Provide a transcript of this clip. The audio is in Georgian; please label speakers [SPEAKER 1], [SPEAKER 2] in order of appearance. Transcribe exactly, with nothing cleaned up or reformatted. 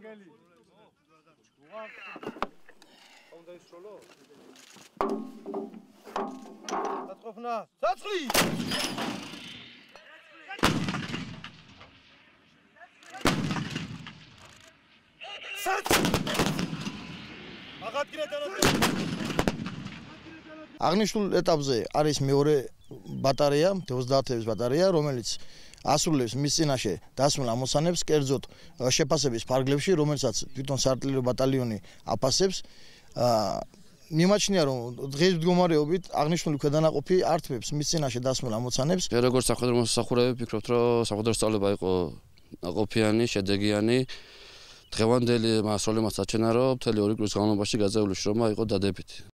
[SPEAKER 1] ანგელი. უნდა ისროლო? დაწყობნა. საწყი! საწყი! აღადგინე თანადგომა.
[SPEAKER 2] აღნიშნულ ეტაპზე არის მეორე ბატარეა, ოცდაათების ბატარეა, რომელიც ასრულებს მის წინაშე დასმულ ამოცანებს, კერძოდ შეფასების ფარგლებში, რომელსაც თვითონ საარტილერიო ბატალიონი აფასებს. მიმაჩნია, რომ დღეს მდგომარეობით აღნიშნული ქვედანაყოფი ართმევს მის წინაშე დასმულ ამოცანებს.
[SPEAKER 3] როგორც სახედრო მოსახლეები ვფიქრობთ, რომ სახედრო სწავლება იყო ნაყოფიანი, შედეგიანი. დღევანდელი მასწავლებლად საჩვენა, რომ მთელი ორი კვირის განმავლობაში გაზეული შრომა იყო დადებითი.